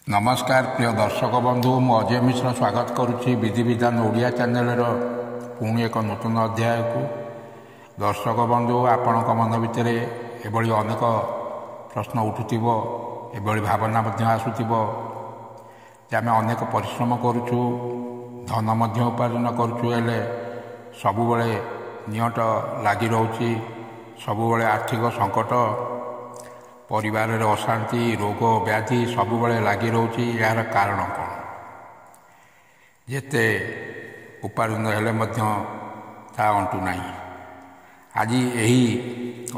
ନମସ୍କାର ପ୍ରିୟ ଦର୍ଶକ ବନ୍ଧୁ, ମୁଁ ଅଜୟ ମିଶ୍ର ସ୍ୱାଗତ କରୁଛି ବିଧିବିଧାନ ଓଡ଼ିଆ ଚ୍ୟାନେଲର ପୁଣି ଏକ ନୂତନ ଅଧ୍ୟାୟକୁ। ଦର୍ଶକ ବନ୍ଧୁ, ଆପଣଙ୍କ ମନ ଭିତରେ ଏଭଳି ଅନେକ ପ୍ରଶ୍ନ ଉଠୁଥିବ, ଏଭଳି ଭାବନା ମଧ୍ୟ ଆସୁଥିବ ଯେ ଆମେ ଅନେକ ପରିଶ୍ରମ କରୁଛୁ, ଧନ ମଧ୍ୟ ଉପାର୍ଜନ କରୁଛୁ, ହେଲେ ସବୁବେଳେ ନିଅଣ୍ଟ ଲାଗି ରହୁଛି, ସବୁବେଳେ ଆର୍ଥିକ ସଙ୍କଟ, ପରିବାରରେ ଅଶାନ୍ତି, ରୋଗ ବ୍ୟାଧି ସବୁବେଳେ ଲାଗି ରହୁଛି। ଏହାର କାରଣ କ'ଣ? ଯେତେ ଉପାର୍ଜନ ହେଲେ ମଧ୍ୟ ତାହା ଅଣ୍ଟୁ ନାହିଁ। ଆଜି ଏହି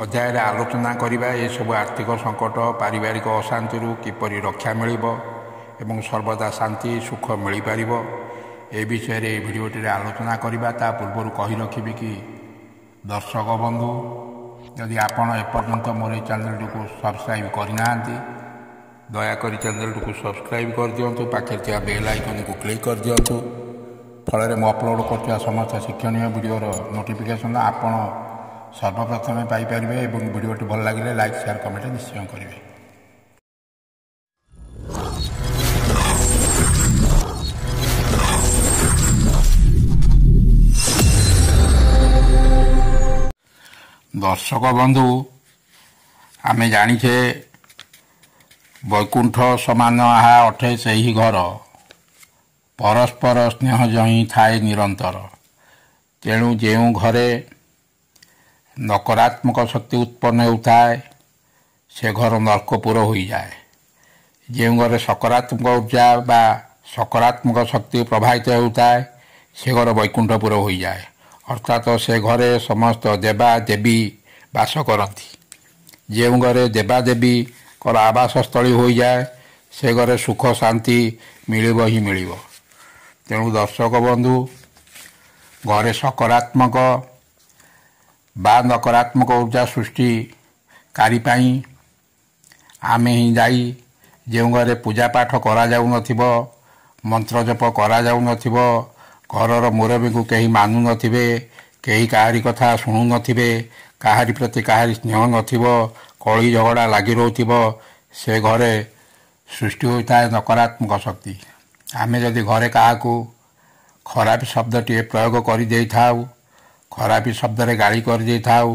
ଅଧ୍ୟାୟରେ ଆଲୋଚନା କରିବା ଏସବୁ ଆର୍ଥିକ ସଙ୍କଟ, ପାରିବାରିକ ଅଶାନ୍ତିରୁ କିପରି ରକ୍ଷା ମିଳିବ ଏବଂ ସର୍ବଦା ଶାନ୍ତି ସୁଖ ମିଳିପାରିବ, ଏ ବିଷୟରେ ଏହି ଭିଡ଼ିଓଟିରେ ଆଲୋଚନା କରିବା। ତା ପୂର୍ବରୁ କହି ରଖିବି କି ଦର୍ଶକ ବନ୍ଧୁ, ଯଦି ଆପଣ ଏପର୍ଯ୍ୟନ୍ତ ମୋର ଏହି ଚ୍ୟାନେଲଟିକୁ ସବସ୍କ୍ରାଇବ୍ କରିନାହାନ୍ତି, ଦୟାକରି ଚ୍ୟାନେଲଟିକୁ ସବସ୍କ୍ରାଇବ୍ କରିଦିଅନ୍ତୁ, ପାଖରେ ଥିବା ବେଲ୍ ଆଇକନ୍କୁ କ୍ଲିକ୍ କରିଦିଅନ୍ତୁ। ଫଳରେ ମୁଁ ଅପଲୋଡ଼ କରୁଥିବା ସମସ୍ତ ଶିକ୍ଷଣୀୟ ଭିଡ଼ିଓର ନୋଟିଫିକେସନ୍ ଆପଣ ସର୍ବପ୍ରଥମେ ପାଇପାରିବେ ଏବଂ ଭିଡ଼ିଓଟି ଭଲ ଲାଗିଲେ ଲାଇକ୍, ସେୟାର, କମେଣ୍ଟ ନିଶ୍ଚୟ କରିବେ। ଦର୍ଶକ ବନ୍ଧୁ, ଆମେ ଜାଣିଛେ ବୈକୁଣ୍ଠ ସମାନ ଆହା ଅଠେ ସେହି ଘର, ପରସ୍ପର ସ୍ନେହ ଯହିଁ ଥାଏ ନିରନ୍ତର। ତେଣୁ ଯେଉଁ ଘରେ ନକାରାତ୍ମକ ଶକ୍ତି ଉତ୍ପନ୍ନ ହେଉଥାଏ, ସେ ଘର ନର୍କପୁର ହୋଇଯାଏ। ଯେଉଁ ଘରେ ସକାରାତ୍ମକ ଉର୍ଜା ବା ସକାରାତ୍ମକ ଶକ୍ତି ପ୍ରବାହିତ ହେଉଥାଏ, ସେ ଘର ବୈକୁଣ୍ଠପୁର ହୋଇଯାଏ। ଅର୍ଥାତ ସେ ଘରେ ସମସ୍ତ ଦେବା ଦେବୀ ବାସ କରନ୍ତି। ଯେଉଁ ଘରେ ଦେବାଦେବୀଙ୍କର ଆବାସସ୍ଥଳୀ ହୋଇଯାଏ, ସେ ଘରେ ସୁଖ ଶାନ୍ତି ମିଳିବ ହିଁ ମିଳିବ। ତେଣୁ ଦର୍ଶକ ବନ୍ଧୁ, ଘରେ ସକାରାତ୍ମକ ବା ନକାରାତ୍ମକ ଉର୍ଜା ସୃଷ୍ଟିକାରୀ ପାଇଁ ଆମେ ହିଁ ଦାୟୀ। ଯେଉଁ ଘରେ ପୂଜା ପାଠ କରାଯାଉନଥିବ, ମନ୍ତ୍ର ଜପ କରାଯାଉନଥିବ, ଘରର ମୁରବୀଙ୍କୁ କେହି ମାନୁନଥିବେ, କେହି କାହାରି କଥା ଶୁଣୁନଥିବେ, କାହାରି ପ୍ରତି କାହାରି ସ୍ନେହ ନଥିବ, କଳି ଝଗଡ଼ା ଲାଗି ରହୁଥିବ, ସେ ଘରେ ସୃଷ୍ଟି ହୋଇଥାଏ ନକାରାତ୍ମକ ଶକ୍ତି। ଆମେ ଯଦି ଘରେ କାହାକୁ ଖରାପ ଶବ୍ଦଟିଏ ପ୍ରୟୋଗ କରିଦେଇଥାଉ, ଖରାପ ଶବ୍ଦରେ ଗାଳି କରିଦେଇଥାଉ,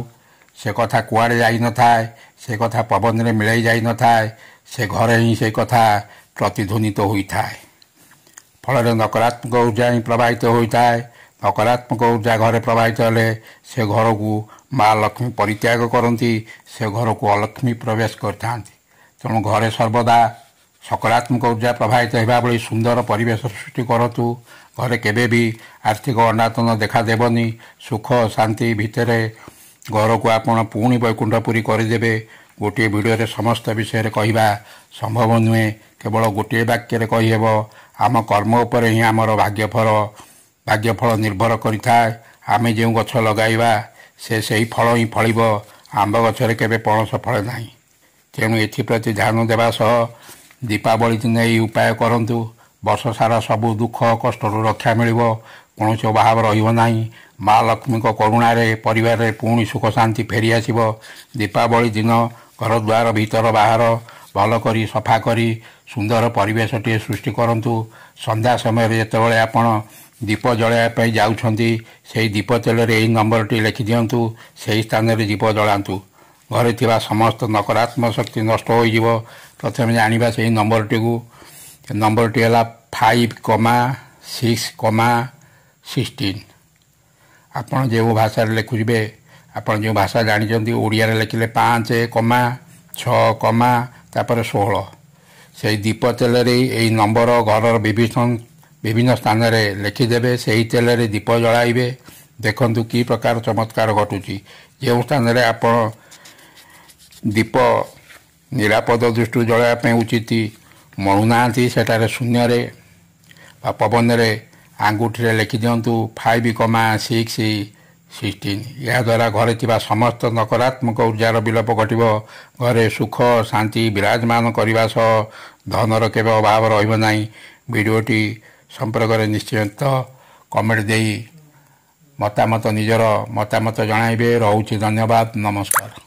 ସେ କଥା କୁଆଡ଼େ ଯାଇନଥାଏ, ସେ କଥା ପବନରେ ମିଳାଇ ଯାଇନଥାଏ, ସେ ଘରେ ହିଁ ସେ କଥା ପ୍ରତିଧ୍ୱନିତ ହୋଇଥାଏ। ଫଳରେ ନକାରାତ୍ମକ ଉର୍ଜା ହିଁ ପ୍ରବାହିତ ହୋଇଥାଏ। ନକାରାତ୍ମକ ଉର୍ଜା ଘରେ ପ୍ରବାହିତ ହେଲେ ସେ ଘରକୁ ମା ଲକ୍ଷ୍ମୀ ପରିତ୍ୟାଗ କରନ୍ତି, ସେ ଘରକୁ ଅଲକ୍ଷ୍ମୀ ପ୍ରବେଶ କରିଥାନ୍ତି। ତେଣୁ ଘରେ ସର୍ବଦା ସକାରାତ୍ମକ ଉର୍ଜା ପ୍ରବାହିତ ହେବା ଭଳି ସୁନ୍ଦର ପରିବେଶ ସୃଷ୍ଟି କରନ୍ତୁ। ଘରେ କେବେ ବି ଆର୍ଥିକ ଅନାଟନ ଦେଖାଦେବନି। ସୁଖ ଶାନ୍ତି ଭିତରେ ଘରକୁ ଆପଣ ପୁଣି ବୈକୁଣ୍ଠପୁରୀ କରିଦେବେ। ଗୋଟିଏ ଭିଡ଼ିଓରେ ସମସ୍ତ ବିଷୟରେ କହିବା ସମ୍ଭବ ନୁହେଁ, କେବଳ ଗୋଟିଏ ବାକ୍ୟରେ କହିହେବ, ଆମ କର୍ମ ଉପରେ ହିଁ ଆମର ଭାଗ୍ୟଫଳ ନିର୍ଭର କରିଥାଏ। ଆମେ ଯେଉଁ ଗଛ ଲଗାଇବା ସେ ସେହି ଫଳ ହିଁ ଫଳିବ। ଆମ୍ବ ଗଛରେ କେବେ ପଣସ ଫଳେ ନାହିଁ। ତେଣୁ ଏଥିପ୍ରତି ଧ୍ୟାନ ଦେବା ସହ ଦୀପାବଳି ଦିନ ଏହି ଉପାୟ କରନ୍ତୁ। ବର୍ଷ ସାରା ସବୁ ଦୁଃଖ କଷ୍ଟରୁ ରକ୍ଷା ମିଳିବ, କୌଣସି ଅଭାବ ରହିବ ନାହିଁ। ମା ଲକ୍ଷ୍ମୀଙ୍କ କରୁଣାରେ ପରିବାରରେ ପୁଣି ସୁଖ ଶାନ୍ତି ଫେରିଆସିବ। ଦୀପାବଳି ଦିନ ଘରଦ୍ୱାର ଭିତର ବାହାର ଭଲ କରି ସଫା କରି ସୁନ୍ଦର ପରିବେଶଟିଏ ସୃଷ୍ଟି କରନ୍ତୁ। ସନ୍ଧ୍ୟା ସମୟରେ ଯେତେବେଳେ ଆପଣ ଦୀପ ଜଳାଇବା ପାଇଁ ଯାଉଛନ୍ତି, ସେହି ଦୀପ ତେଲରେ ଏହି ନମ୍ବରଟି ଲେଖିଦିଅନ୍ତୁ, ସେହି ସ୍ଥାନରେ ଦୀପ ଜଳାନ୍ତୁ। ଘରେ ଥିବା ସମସ୍ତ ନକାରାତ୍ମକ ଶକ୍ତି ନଷ୍ଟ ହୋଇଯିବ। ପ୍ରଥମେ ଜାଣିବା ସେହି ନମ୍ବରଟିକୁ। ନମ୍ବରଟି ହେଲା 5, 6, 16। ଆପଣ ଯେଉଁ ଭାଷାରେ ଲେଖୁଥିବେ, ଆପଣ ଯେଉଁ ଭାଷା ଜାଣିଛନ୍ତି, ଓଡ଼ିଆରେ ଲେଖିଲେ 5 କମା 6 କମା ତାପରେ 16। ସେଇ ଦୀପ ତେଲରେ ଏଇ ନମ୍ବର ଘରର ବିଭିନ୍ନ ବିଭିନ୍ନ ସ୍ଥାନରେ ଲେଖିଦେବେ, ସେହି ତେଲରେ ଦୀପ ଜଳାଇବେ। ଦେଖନ୍ତୁ କି ପ୍ରକାର ଚମତ୍କାର ଘଟୁଛି। ଯେଉଁ ସ୍ଥାନରେ ଆପଣ ଦୀପ ନିରାପଦ ଦୃଷ୍ଟିରୁ ଜଳାଇବା ପାଇଁ ଉଚିତ ମଣୁନାହାନ୍ତି, ସେଠାରେ ଶୂନ୍ୟରେ ବା ପବନରେ ଆଙ୍ଗୁଠିରେ ଲେଖିଦିଅନ୍ତୁ 5, 6 16। ଏହାଦ୍ୱାରା ଘରେ ଥିବା ସମସ୍ତ ନକାରାତ୍ମକ ଉର୍ଜାର ବିଲୋପ ଘଟିବ। ଘରେ ସୁଖ ଶାନ୍ତି ବିରାଜମାନ କରିବା ସହ ଧନର କେବେ ଅଭାବ ରହିବ ନାହିଁ। ଭିଡ଼ିଓଟି ସମ୍ପର୍କରେ ନିଶ୍ଚିତ କମେଣ୍ଟ ଦେଇ ମତାମତ, ନିଜର ମତାମତ ଜଣାଇବେ। ରହୁଛି, ଧନ୍ୟବାଦ, ନମସ୍କାର।